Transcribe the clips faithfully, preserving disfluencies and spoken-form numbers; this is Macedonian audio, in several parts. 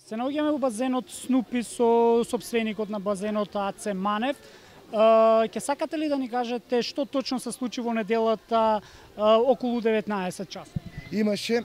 Се наоѓаме во базенот Снупи со сопственикот на базенот Аце Манев. Ќе сакате ли да ни кажете што точно се случи во неделата околу деветнаесет часот? Имаше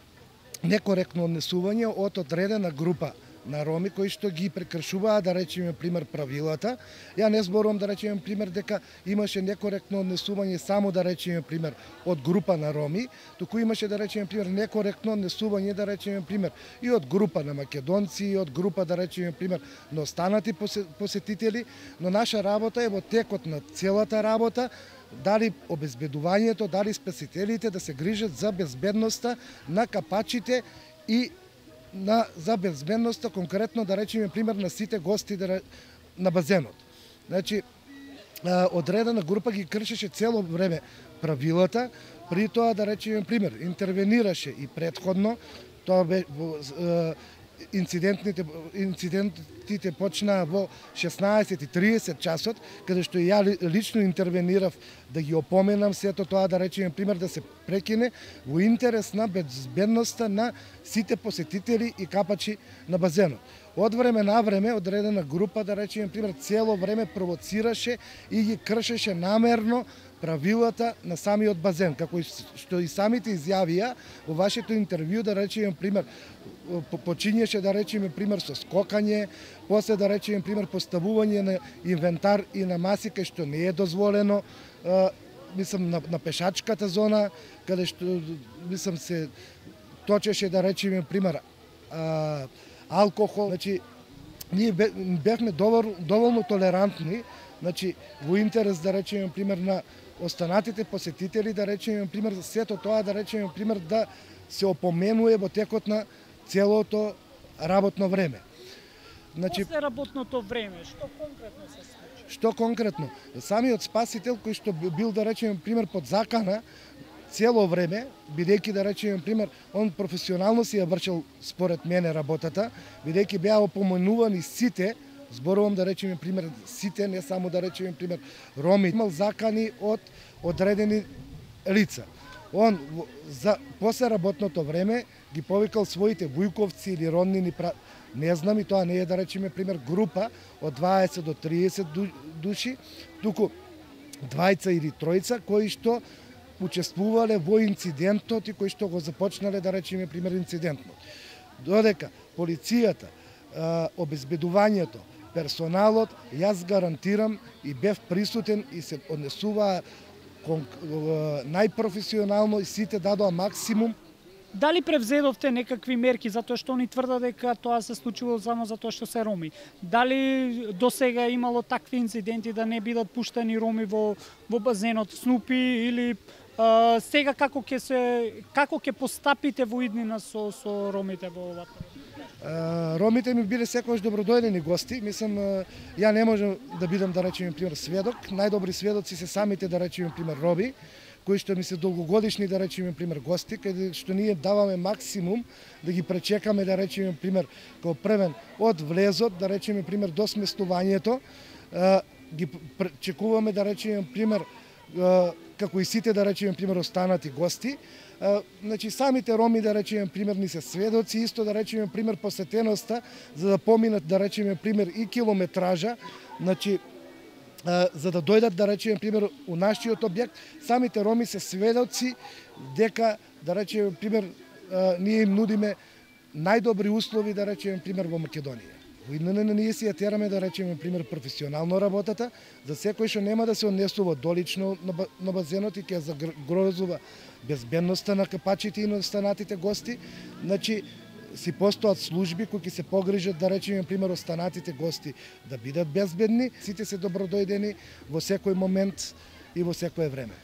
некоректно однесување од одредена група на роми кои што ги прекршуваа, да речеме, пример, правилата. Ја не зборувам, да речеме, пример, дека имаше некоректно однесување само, да речеме, пример, од група на роми, туку имаше, да речеме, пример, некоректно однесување, да речеме, пример, и од група на македонци, и од група, да речеме, пример, на останати посетители, но наша работа е во текот на целата работа, дали обезбедувањето, дали спасителите да се грижат за безбедноста на капачите и на за безбедноста, конкретно, да речеме, пример, на сите гости на базенот. Значи, одредена група ги кршеше цело време правилата, при тоа, да речеме, пример, интервенираше и претходно, тоа бе инцидентните инцидентите почнаа во шеснаесет и тридесет часот, каде што ја лично интервенирав да ги опоменам сето тоа, да речеме, пример, да се прекине во интерес на безбедноста на сите посетители и капачи на базенот. Од време на време одредена група, да речеме, пример, цело време провоцираше и ги кршеше намерно правилата на самиот базен, како што и самите изјавија во вашето интервју, да речеме, пример, почињеше, да речеме, пример, со скокање, после, да речеме, пример, поставување на инвентар и на маси кај што не е дозволено, мислам, на, на пешачката зона, каде што, мислам, се точеше, да речеме, пример, а, алкохол. Значи, ние бевме доволно, доволно толерантни, значи, во интерес, да речеме, пример, на останатите посетители, да речеме, пример, сето тоа, да речеме, пример, да се опоменува во текот на целото работно време. Значи, после работното време, што конкретно се случи? Што конкретно? Самиот спасител кој што бил, да речеме, пример, под закана цело време, бидејќи, да речеме, пример, он професионално си ја вршил според мене работата, бидејќи беа опоменувани сите, зборувам, да речеме, пример, сите, не само, да речеме, пример, роми, имал закани од одредени лица. Он за после работното време ги повикал своите вујковци или роднини, не знам, и тоа не е, да речеме, пример, група од дваесет до триесет души, туку двајца или тројца кои што учествувале во инцидентот и кои што го започнале, да речеме, пример, инцидентот. Додека полицијата, обезбедувањето, персоналот, јас гарантирам и бев присутен и се однесуваа најпрофесионално и сите дадоа максимум. Дали превзедовте некакви мерки, затоа што они тврдат дека тоа се случило само затоа што се роми? Дали до сега имало такви инциденти да не бидат пуштени роми во во базенот Снупи, или а, сега како ќе се како ќе постапите во иднина со со ромите во ова? Ромите ми биле секогаш добродојдени гости. Мислам, ја не можам да бидам, да речеме, пример, сведок. Најдобри сведоци се самите, да речеме, пример, роби, кои што ми се долгогодишни, да речеме, пример, гости, каде што ние даваме максимум да ги пречекаме, да речеме, пример, како првен од влезот, да речеме, пример, до сместувањето, ги пречекуваме, да речеме, пример, како и сите, да речеме, пример, останати гости. Значи, самите роми, да речеме, пример, ни се сведоци, исто, да речеме, пример, посетеноста, за да поминат, да речеме, пример, и километража, значи, за да дојдат, да речеме, пример, у нашиот објект, самите роми се сведоци дека, да речеме, пример, ние им нудиме најдобри услови, да речеме, пример, во Македонија. Во иднина ние си ја тераме, да речеме, пример, професионално работата, за секој што нема да се однесува долично на базенот и ќе загрозува безбедноста на капачите и на останатите гости. Значи, си постојат служби кои ќе се погрижат, да речеме, пример, останатите гости да бидат безбедни, сите се добродојдени во секој момент и во секое време.